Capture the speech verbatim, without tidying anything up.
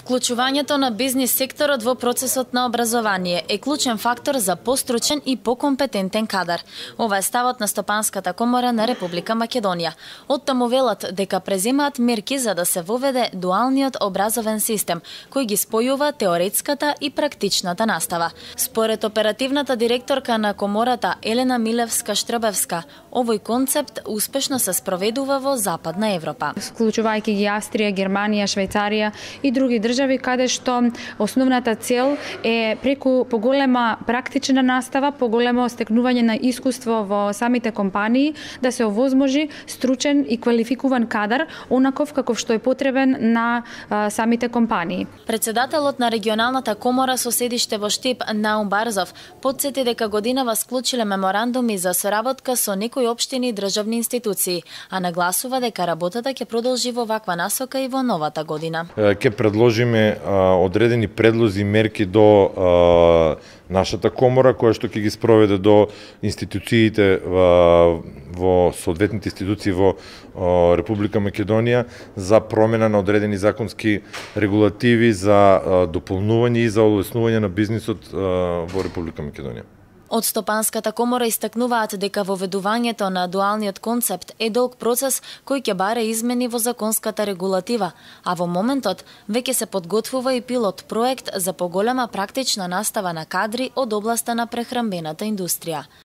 Вклучувањето на бизнис секторот во процесот на образование е клучен фактор за постручен и покомпетентен кадар. Ова е ставот на Стопанската комора на Република Македонија. Оттаму велат дека преземаат мерки за да се воведе дуалниот образовен систем, кој ги спојува теоретската и практичната настава. Според оперативната директорка на комората Елена Милевска-Штрбевска, овој концепт успешно се спроведува во Западна Европа. Вклучувајќи ги Австрија, Германија, Швајцарија и други држави каде што основната цел е преку поголема практична настава, поголемо стекнување на искуство во самите компании, да се овозможи стручен и квалификуван кадар, онаков каков што е потребен на а, самите компании. Председателот на регионалната комора со седиште во Штип, Наум Барзов, потсети дека годинава склучиле меморандуми за соработка со некои општини и државни институции, а нагласува дека работата ќе продолжи во ваква насока и во новата година. Ќе предложиме а, одредени предлози и мерки до а, нашата комора, која што ќе ги спроведе до институциите во, во соодветните институции во а, Република Македонија за промена на одредени законски регулативи за а, дополнување и за олеснување на бизнисот а, во Република Македонија. Од Стопанската комора истакнуваат дека воведувањето на дуалниот концепт е долг процес кој ќе баре измени во законската регулатива, а во моментот веќе се подготвува и пилот проект за поголема практична настава на кадри од областа на прехранбената индустрија.